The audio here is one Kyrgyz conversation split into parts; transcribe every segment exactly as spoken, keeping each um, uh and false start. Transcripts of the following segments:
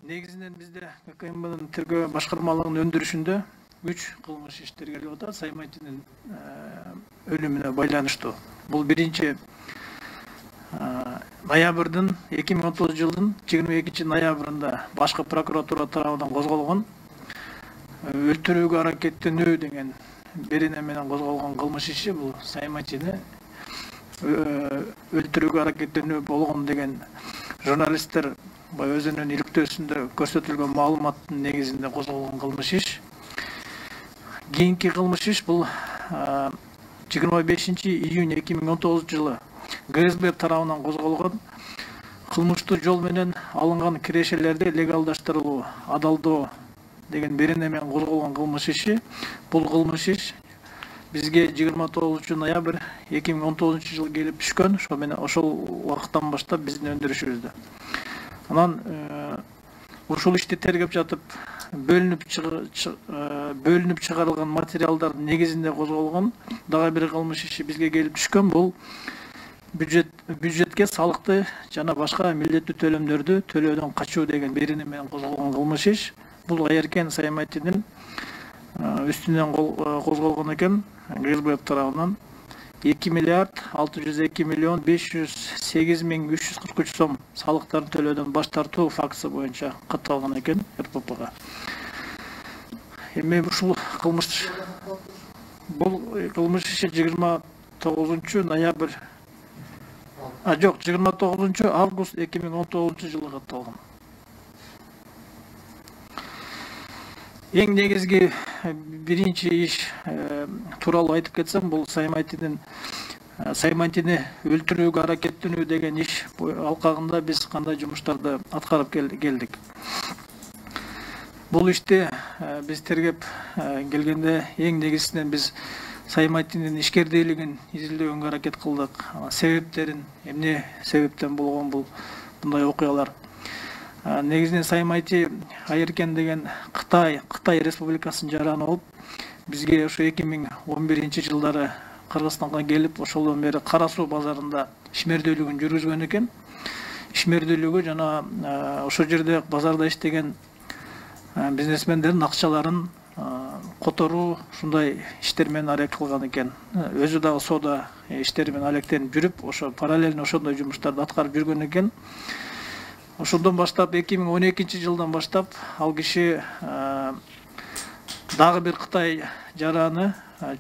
Негизинен бизде ККМБнын тергөө башкармалыгынын өндүрүшүндө үч кылмыш иш тергелип атат Саймайтинин өлүмүнө байланыштуу. Бул биринчи ноябрдын эки миң он тогузунчу жылдын жыйырма экинчи ноябрында башкы прокуратура тарабынан козголгон өлтүрүүгө аракеттенүү деген берене менен козголгон кылмыш иши бул Саймайтини өлтүрүүгө аракеттенүү болгон деген журналисттер өзүнүн иликтөөсүндө көрсөтүлгөн маалыматтын негизинде козголгон кылмыш иш. Кийинки кылмыш иш бул жыйырма бешинчи июнь эки миң он тогузунчу жылы ГСБ тарабынан козголгон кылмыштуу жол менен алынган кирешелерди легалдаштырылуу, адалдоо деген берене менен козголгон кылмыш иши. Бул кылмыш иш бизге жыйырма тогузунчу ноябрь эки миң он тогузунчу жылы келип түшкөн. Ошо менен ошол убакыттан баштап биздин өндүрүшүбүздө. Анан ушул ишти тергеп жатып бөлүнүп бөлүнүп чыгарылган материалдардын негизинде козголгон дагы бир кылмыш иши бизге келип түшкөн. Бул бюджет бюджетке салыкты жана башка милдеттүү төлөмдөрдү төлөөдөн качуу деген берене менен козголгон кылмыш иш. Бул Айеркен Саймайтинин үстүнөн козголгон экен ГСБ тарабынан эки миллиард алты жүз эки миллион беш жүз сегиз миң үч жүз кырк үч сом салыктарды төлөөдөн баш тартуу фактысы боюнча катталган экен РППга. Эми ушул кылмыш бул кылмыш иши жыйырма тогузунчу ноябрь а жок жыйырма тогузунчу август эки миң он тогузунчу жылы катталган. Эң негизги биринчи иш тууралуу айтып кетсем, бул Саймайтинин Саймайтини өлтүрүүгө аракеттенүү деген иш алкагында биз кандай жумуштарды аткарып келдик. Бул ишти биз тергеп келгенде эң негизинен биз Саймайтинин ишкердүүлүгүн изилдөөгө аракет кылдык. Себептерин, эмне себептен болгон бул мындай окуялар. Негизинен Саймайти Айеркен деген Кытай Кытай Республикасынын жараны болуп, бизге ошо эки миң он биринчи жылдары Кыргызстанга келип, ошолдон бери Кара Суу базарында ишмердүүлүгүн жүргүзгөн экен. Ишмердүүлүгү жана ошол жерде базарда иштеген бизнесмендердин акчаларын которуу, ушундай иштер менен аракет кылган экен. Өзү дагы соода иштери менен алектенип жүрүп, ошо параллельно ошондой жумуштарды аткарып жүргөн экен. Ошондон баштап эки миң он экинчи жылдан баштап ал киши дагы бир Кытай жараны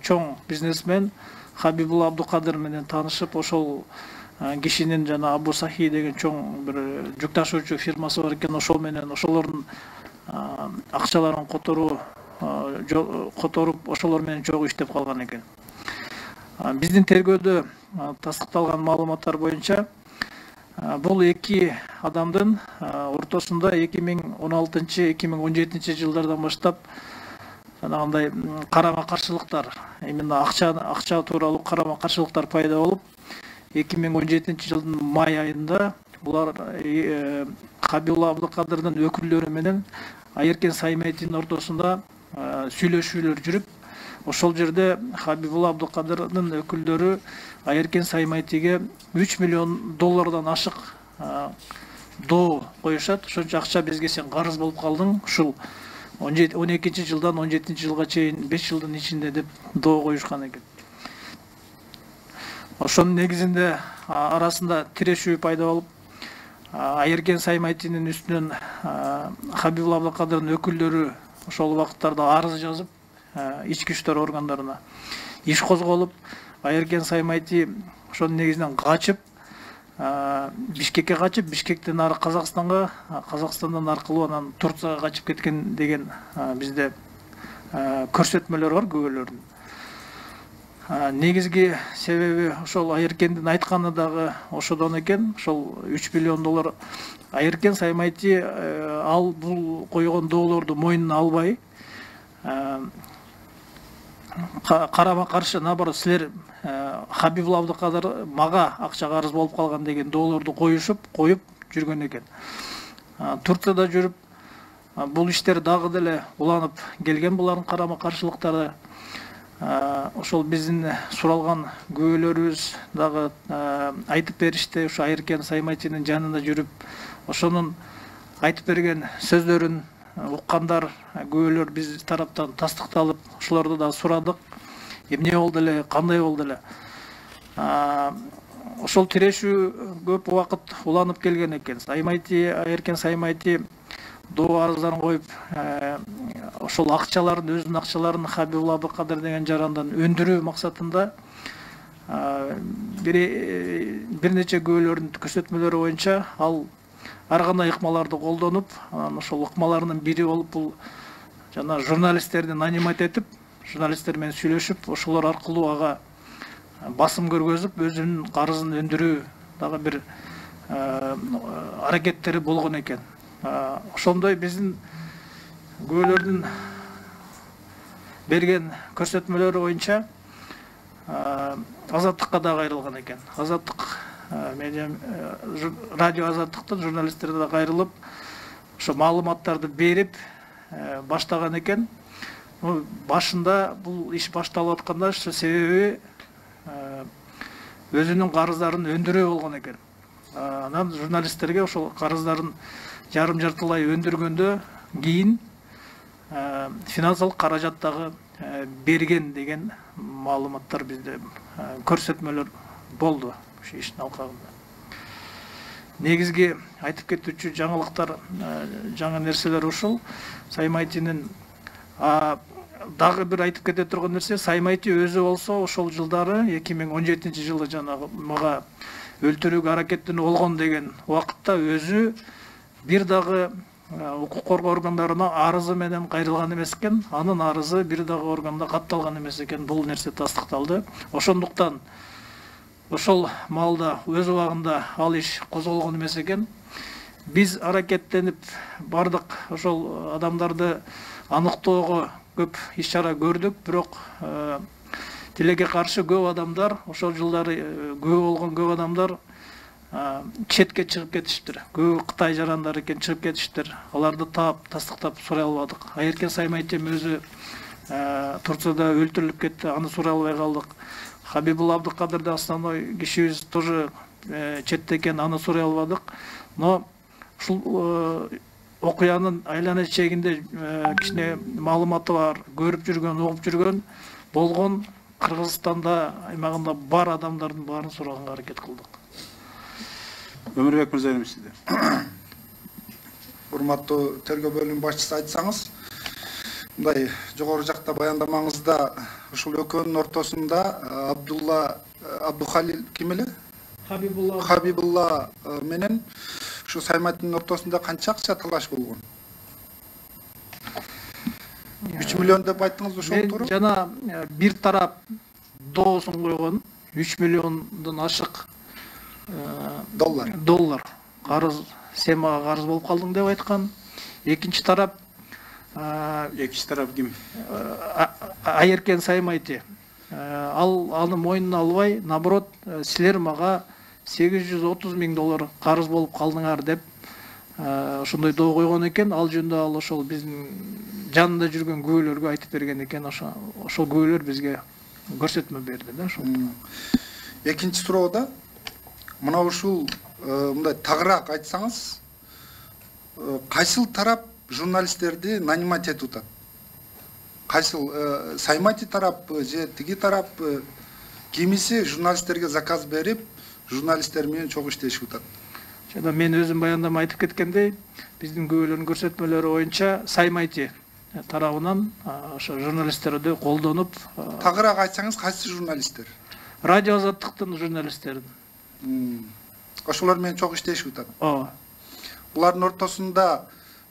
чоң бизнесмен Хабибулла Абдукадыр менен таанышып, ошол кишинин жана Абу Сахи деген чоң бир жүк ташуучу фирмасы бар экен. Ошол менен ошолордун акчаларын которуу которуп, ошолор менен чогуу иштеп калган экен. Биздин тергөөдө тастыкталган маалыматтар боюнча бул эки адамдын ортосунда эки миң он алтынчы эки миң он жетинчи жылдардан баштап жанагындай карама каршылыктар, именно акча акча тууралуу карама каршылыктар пайда болуп, эки миң он жетинчи жылдын май айында булар Хабибулла Абдукадырдын өкүлдөрү менен Айеркен Саймайтинин ортосунда сүйлөшүүлөр жүрүп, ошол жерде Хабибулла Абдукадырдын өкүлдөрү Айеркен Саймайтиге үч миллион доллардан ашык доо коюшат. Ошончо акча бизге сен карыз болуп калдың, ушул он экинчи жылдан он жетинчи жылга чейин беш жылдын ичинде деп доо коюшкан экен. Ошонун негизинде арасында тирешүү пайда болуп, Айеркен Саймайтинин үстүнөн Хабибулла Абдукадырдын өкүлдөрү ошол убакыттарда арыз жазып, ички иштер органдарына иш козголуп, Айеркен Саймайти ошонун негизинен качып, Бишкекке качып, Бишкектен ары Казакстанга, Казакстандан аркылуу анан Турцияга качып кеткен деген бизде көрсөтмөлөр бар, күбөлөрдүн. Негизги себеби ошол Айеркендин айтканы дагы ошодон экен. Ошол үч миллион доллар Айеркен Саймайти ал бул койгон доолорду мойнуна албай, карама каршы, наоборот, силер Хабибулла Абдукадыр мага акча карыз болуп калган деген доолорду коюшуп, коюп жүргөн экен. Турцияда жүрүп, бул иштер дагы деле уланып келген, булардын карама каршылыктары. Ошол биздин суралган күбөлөрүбүз дагы айтып беришти, ошо Айеркен Саймайтинин жанында жүрүп, ошонун айтып берген сөздөрүн уккандар, күбөлөр биз тараптан тастыкталып, ошолорду да сурадык. Эмне болду эле, кандай болду эле. Ошол тирешүү көп убакыт уланып келген экен. Саймайти, Айыркен Саймайти доо арыздарын коюп, ошол акчаларын, өзүнүн акчаларын Хабибулла Абдыкадыр деген жарандан өндүрүү максатында бир нече күбөлөрдүн көрсөтмөлөрү боюнча ал ар кандай ыкмаларды колдонуп, ошол ыкмаларынын бири болуп бул жана журналисттерди нанимать этип, журналисттер менен сүйлөшүп, ошолор аркылуу ага басым көргөзүп, өзүнүн карызын өндүрүү дагы бир аракеттери болгон экен. Ошондой биздин күбөлөрдүн берген көрсөтмөлөрү боюнча Азаттыкка да кайрылган экен. Азаттык медиа радио Азаттыктын журналисттери да кайрылып, ошо маалыматтарды берип баштаган экен. Башында бул иш башталып атканда ошо себеби өзүнүн карыздарын өндүрүү болгон экен. Анан журналисттерге ошол карыздарын жарым жартылай өндүргөндө кийин финансылык каражат дагы берген деген маалыматтар бизде, көрсөтмөлөр болду ошо иштин алкагында. Негизги айтып кетүүчү жаңылыктар, жаңы нерселер ушул. Саймайтинин дагы бир айтып кете турган нерсе, Саймайти өзү болсо ошол жылдары эки миң он жетинчи жылы жанагы мага өлтүрүүгө аракеттенүү болгон деген убакытта өзү бир дагы укук коргоо органдарына арызы менен кайрылган эмес экен. Анын арызы бир дагы органда катталган эмес экен. Бул нерсе тастыкталды. Ошондуктан ошол маалда өз убагында ал иш козголгон эмес экен. Биз аракеттенип бардык ошол адамдарды аныктоого көп иш чара көрдүк, бирок тилекке каршы көп адамдар, ошол жылдары күбө болгон көп адамдар четке чыгып кетиштир. Көп Кытай жарандары экен чыгып кетиштир. Аларды таап, тастыктап сурай албадык. Айыркен Саймайтим өзү Турцияда өлтүрүлүп кетти, аны сурай албай калдык. Хабибулла Абдыкадыр да основной кишибиз тоже четте экен, аны сурай албадык. Но ушул окуянын айлана чегинде кичине маалыматы бар, көрүп жүргөн, угуп жүргөн болгон Кыргызстанда аймагында бар адамдардын баарын сураганга аракет кылдык. Өмүрбек мырза, сизде. Урматтуу тергөө бөлүмүнүн башчысы, айтсаңыз, мындай жогору жакта баяндамаңызда ушул экөөнүн ортосунда Абдулла Абдухалил ким эле? Хабибулла Хабибулла менен ушу Саймайтинин ортосунда канча акча талаш болгон? үч миллион деп айттыңыз, ошол туура? Жана бир тарап доосун койгон, үч миллиондон ашык доллар. Доллар. Карыз, сен мага карыз болуп калдың деп айткан. Экинчи тарап Экинчи тарап ким? Айыркен Саймайти. Ал аны мойнуна албай, наоборот, силер мага сегиз жүз отуз миң доллар карыз болуп калдыңар деп ошондой доо койгон экен. Ал жөнүндө ал ошол биздин жанында жүргөн күбөлөргө айтып берген экен. Ошол күбөлөр бизге көрсөтмө берди да ошол. Экинчи суроодо мына ушул мындай тагыраак айтсаңыз, кайсыл тарап журналисттерди нанимать этип атат? Кайсыл Саймайти тарап же тиги тарап, кимиси журналисттерге заказ берип, журналисттер менен чогуу иштешип атат? Жана мен өзүм баяндама айтып кеткендей, биздин күбөлөрдүн көрсөтмөлөрү боюнча Саймайти тарабынан ошо журналисттерди колдонуп. Тагыраак айтсаңыз, кайсы журналисттер? Радио Азаттыктын журналисттерин. Ошолор менен чогуу иштешип атат. Ооба. Булардын ортосунда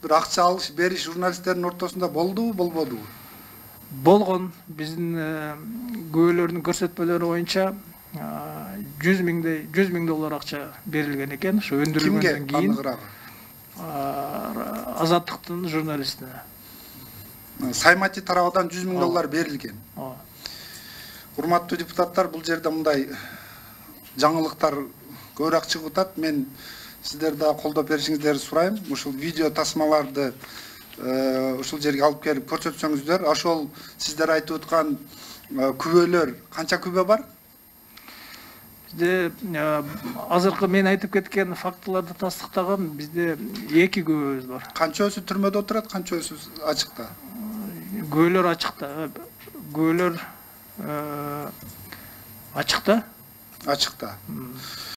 бир акча алыш бериш журналисттердин ортосунда болдубу, болбодубу? Болгон. Биздин күбөлөрдүн көрсөтмөлөрү боюнча жүз миң доллар акча берилген экен. Ошо өндүрүлгөндөн кийин Азаттыктын журналистине. Саймайти тарабынан жүз миң доллар берилген. Ооба. Урматтуу депутаттар, бул жерде мындай жаңылыктар көбүрөөк чыгып атат. Мен сиздер да колдоп беришиңиздерди сурайм. Ушул видео тасмаларды ушул жерге алып келип көрсөтсөңүздөр. Ошол сиздер айтып аткан күбөлөр, канча күбө бар? Бизде азыркы мен айтып кеткен фактыларды тастыктаган бизде эки күбөбүз бар. Канчөсү түрмөдө отурат, канчөсү ачыкта? Күбөлөр ачыкта. Күбөлөр ачыкта. Ачыкта.